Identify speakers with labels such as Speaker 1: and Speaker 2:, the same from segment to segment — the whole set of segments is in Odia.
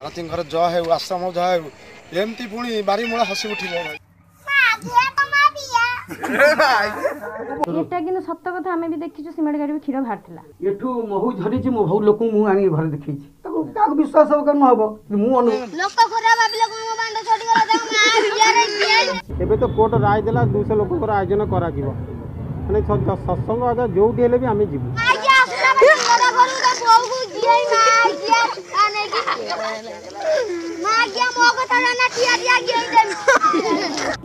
Speaker 1: ଭାରତୀଙ୍କର ଜୟ ହେଉ, ଆଶ୍ରମ ଜୟ ହେଉ। ଏମିତି ପୁଣି ବାରିମୂଳା ହସି ଉଠିବ ଭାଇ।
Speaker 2: ଏଟା କିନ୍ତୁ ସତ କଥା, ଆମେ ବି ଦେଖିଛୁ ସିମେଣ୍ଟ ଗାଡ଼ି ବି କ୍ଷୀର ବାହାରିଥିଲା।
Speaker 3: ଏଠୁ ମହୁ ଝରିଛି, ମୁଁ ବହୁ ଲୋକଙ୍କୁ ମୁଁ ଆଣିକି ଘରେ ଦେଖେଇଛି। ତାକୁ କାହାକୁ ବିଶ୍ୱାସ ହବ ନ ହବ, ମୁଁ
Speaker 4: ଲୋକ ଖରାପ ଭାବିଲେ କଣ ମୋ ବାଣ୍ଡ ଛଡିଗଲା? ତାଙ୍କ ମା ବିଆରେ।
Speaker 5: ଏବେ ତ କୋର୍ଟ ରାୟ ଦେଲା 200 ଲୋକଙ୍କର ଆୟୋଜନ କରାଯିବ, ମାନେ ସତ୍ସଙ୍ଗ ଆଜ୍ଞା ଯୋଉଠି ହେଲେ ବି ଆମେ ଯିବୁ।
Speaker 4: ଆଜ୍ଞା ଆସିଲା ଘରକୁ ତା ବୋଉକୁ ଗିଆଇ ମା ଗିଆ ନେଇକି ମା ଗିଆ ମୋ କଥା ଜାନା ଠିଆ ଠିଆ ଗିଆଇ ଦେବି।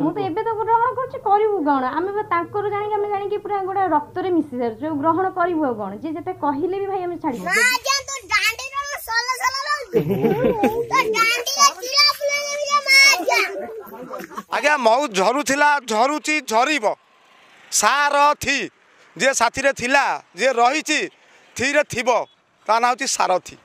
Speaker 2: ମୁଁ ତ ଏବେ ତ ଗ୍ରହଣ କରୁଛି, କରିବୁ କ'ଣ ଆମେ? ତାଙ୍କର ଜାଣିକି ଆମେ ଜାଣିକି ପୁରା ଗୋଟେ ରକ୍ତରେ ମିଶି ସାରିଛୁ, ଗ୍ରହଣ କରିବୁ ଆଉ କ'ଣ? ଯିଏ ଯେତେ କହିଲେ ବି ଭାଇ ଆମେ ଛାଡ଼ିବୁ।
Speaker 1: ଆଜ୍ଞା ମହୁ ଝରୁଥିଲା, ଝରୁଛି, ଝରିବ। ସାରଥି ଯିଏ ସାଥିରେ ଥିଲା, ଯିଏ ରହିଛି, ଥିରେ ଥିବ, ତା ନାଁ ହେଉଛି ସାରଥି।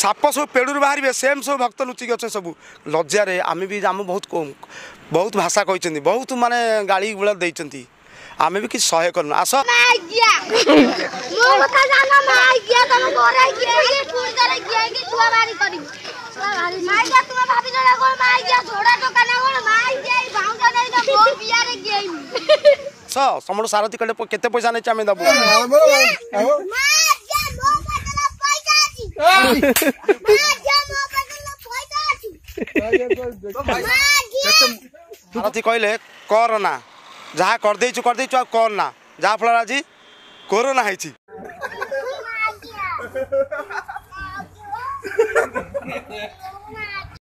Speaker 1: ସାପ ସବୁ ପେଡ଼ୁରୁ ବାହାରିବେ, ସେମ୍ ସବୁ ଭକ୍ତ ଲୁଚିକି ଅଛନ୍ତି ସବୁ ଲଜ୍ଜାରେ। ଆମେ ବି ଆମ ବହୁତ ବହୁତ ଭାଷା କହିଛନ୍ତି, ବହୁତ ମାନେ ଗାଳି ଗୁଳା ଦେଇଛନ୍ତି, ଆମେ ବି କିଛି ସହ୍ୟ କରୁନୁ। ଆସ ସମର ସାରଥି କହିଲେ କେତେ ପଇସା ନେଇଛି ଆମେ ଦବୁ। ସାରଥି କହିଲେ କର ନା, ଯାହା କରିଦେଇଛୁ କରିଦେଇଛୁ, ଆଉ କର ନା, ଯାହାଫଳରେ ଆଜି କୋରୋନା ହେଇଛି।